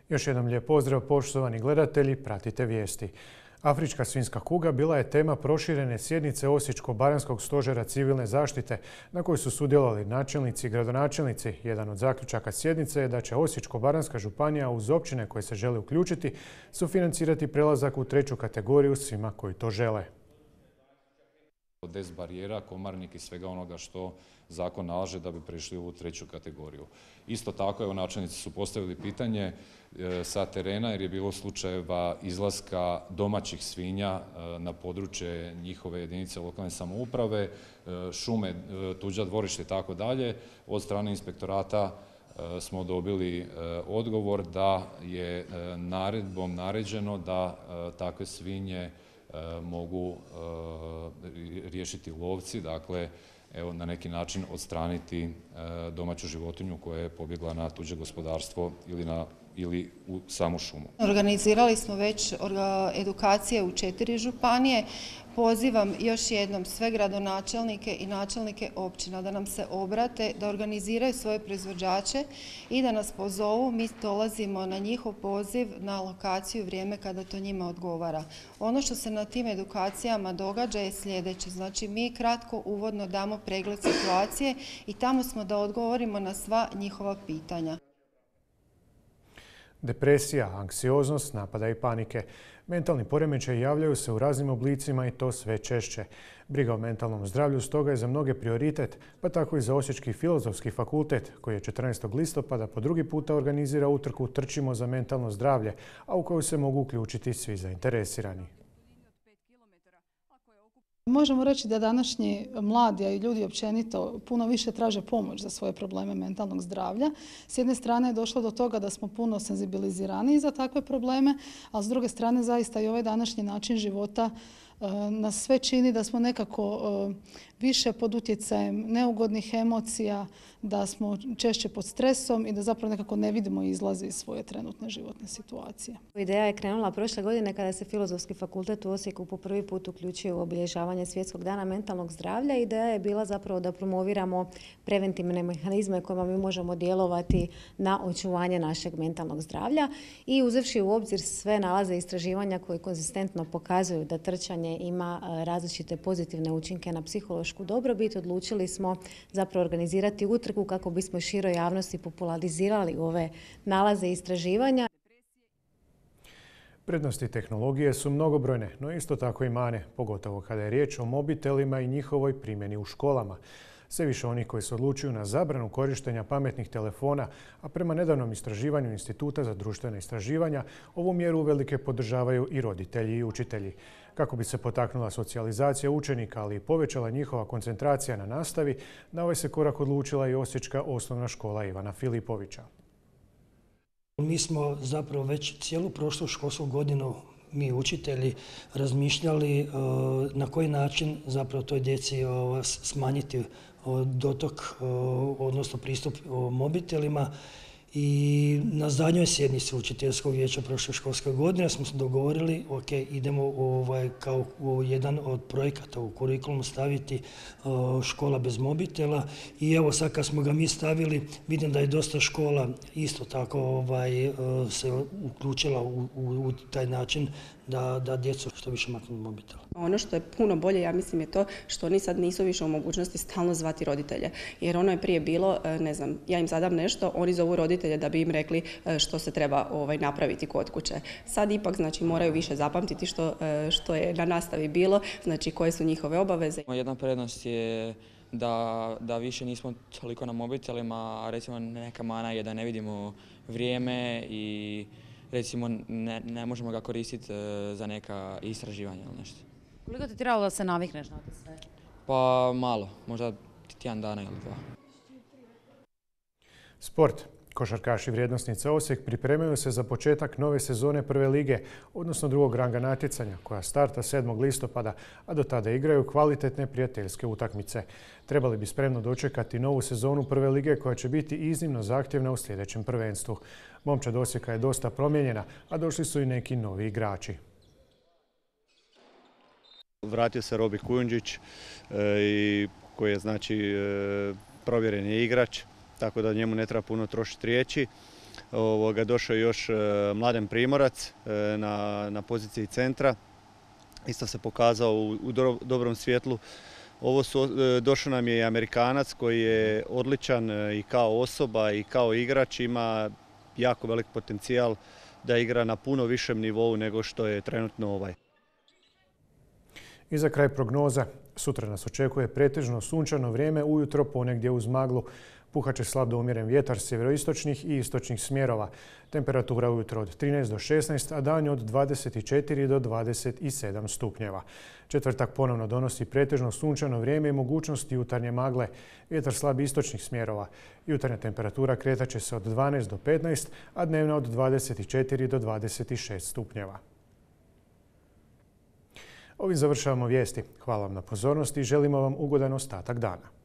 Još jednom lijep pozdrav, poštovani gledatelji, pratite vijesti. Afrička svinjska kuga bila je tema proširene sjednice Osječko-baranjskog stožera civilne zaštite na kojoj su sudjelovali načelnici i gradonačelnici. Jedan od zaključaka sjednice je da će Osječko-baranjska županija uz općine koje se žele uključiti sufinancirati prelazak u treću kategoriju svima koji to žele. Bez barijera, komarnik i svega onoga što zakon nalaže da bi prešli u treću kategoriju. Isto tako, evo, načelnici su postavili pitanje sa terena jer je bilo slučajeva izlaska domaćih svinja na područje njihove jedinice lokalne samouprave, šume, tuđa dvorište i tako dalje. Od strane inspektorata smo dobili odgovor da je naredbom naređeno da takve svinje mogu riješiti lovci, dakle, evo, na neki način odstraniti domaću životinju koja je pobjegla na tuđe gospodarstvo ili u samu šumu. Organizirali smo već edukacije u 4 županije. Pozivam još jednom sve gradonačelnike i načelnike općina da nam se obrate, da organiziraju svoje proizvođače i da nas pozovu. Mi dolazimo na njihov poziv na lokaciju vrijeme kada to njima odgovara. Ono što se na tim edukacijama događa je sljedeće. Znači, mi kratko uvodno damo pregled situacije i tamo smo da odgovorimo na sva njihova pitanja. Depresija, anksioznost, napada i panike. Mentalni poremećaji javljaju se u raznim oblicima i to sve češće. Briga o mentalnom zdravlju stoga je za mnoge prioritet, pa tako i za Osječki filozofski fakultet, koji je 14. listopada po drugi puta organizira utrku Trčimo za mentalno zdravlje, a u koju se mogu uključiti svi zainteresirani. Možemo reći da današnji mladi, a i ljudi općenito, puno više traže pomoć za svoje probleme mentalnog zdravlja. S jedne strane je došlo do toga da smo puno senzibilizirani za takve probleme, a s druge strane zaista i ovaj današnji način života nas sve čini da smo nekako više pod utjecajem neugodnih emocija, da smo češće pod stresom i da zapravo nekako ne vidimo izlaze iz svoje trenutne životne situacije. Ideja je krenula prošle godine kada se Filozofski fakultet u Osijeku po prvi put uključio u obilježavanje Svjetskog dana mentalnog zdravlja. Ideja je bila zapravo da promoviramo preventivne mehanizme kojima mi možemo djelovati na očuvanje našeg mentalnog zdravlja i uzevši u obzir sve nalaze istraživanja koji konzistentno pokazuju da trčanje ima različite pozitivne učinke na psihološku dobrobit, odlučili smo zapravo organizirati utrku kako bismo široj javnosti popularizirali ove nalaze istraživanja. Prednosti tehnologije su mnogobrojne, no isto tako i mane, pogotovo kada je riječ o mobitelima i njihovoj primjeni u školama. Sve više onih koji se odlučuju na zabranu korištenja pametnih telefona, a prema nedavnom istraživanju Instituta za društvena istraživanja, ovu mjeru uvelike podržavaju i roditelji i učitelji. Kako bi se potaknula socijalizacija učenika, ali i povećala njihova koncentracija na nastavi, na ovaj se korak odlučila i Osječka osnovna škola Ivana Filipovića. Mi smo zapravo već cijelu prošlu školsku godinu, mi učitelji, razmišljali na koji način zapravo toj djeci smanjiti dotok, odnosno pristup mobitelima. I na zadnjoj sjednici učiteljskog vijeća prošle školske godine smo se dogovorili, ok, idemo kao jedan od projekata u kurikulumu staviti škola bez mobitela. I evo sad kad smo ga mi stavili, vidim da je dosta škola isto tako se uključila u taj način da djecu što više maknu mobitel. Ono što je puno bolje, ja mislim, je to što oni sad nisu više u mogućnosti stalno zvati roditelje. Jer ono je prije bilo, ne znam, ja im zadam nešto, oni zovu roditelje da bi im rekli što se treba napraviti kod kuće. Sad ipak, znači, moraju više zapamtiti što je na nastavi bilo, znači koje su njihove obaveze. Jedna prednost je da više nismo toliko na mobitelima, a recimo neka mana je da ne vidimo vrijeme i recimo ne možemo ga koristiti za neka istraživanja ili nešto. Koliko ti trebalo da se navikneš na to sve? Pa malo, možda tjedan dana ili 2. Sport. Košarkaši vrijednosnice Osijek pripremaju se za početak nove sezone prve lige, odnosno drugog ranga natjecanja, koja starta 7. listopada, a do tada igraju kvalitetne prijateljske utakmice. Trebali bi spremno dočekati novu sezonu prve lige koja će biti iznimno zahtjevna u sljedećem prvenstvu. Momčad Osijeka je dosta promijenjena, a došli su i neki novi igrači. Vratio se Robi Kujundžić koji je provjereni igrač, tako da njemu ne treba puno trošiti riječi. došao je još Mladen Primorac na poziciji centra. Isto se pokazao u dobrom svjetlu. Došao nam je i Amerikanac koji je odličan i kao osoba i kao igrač, ima jako velik potencijal da igra na puno višem nivou nego što je trenutno ovaj. I za kraj prognoza. Sutra nas očekuje pretežno sunčano vrijeme, ujutro ponegdje uz maglu. Puhat će slab do umjeren vjetar sjeveroistočnih i istočnih smjerova. Temperatura ujutro od 13 do 16, a danju od 24 do 27 stupnjeva. Četvrtak ponovno donosi pretežno sunčano vrijeme i mogućnost jutarnje magle. Vjetar slab istočnih smjerova. Jutarnja temperatura kretat će se od 12 do 15, a dnevna od 24 do 26 stupnjeva. Ovim završavamo vijesti. Hvala vam na pozornosti i želimo vam ugodan ostatak dana.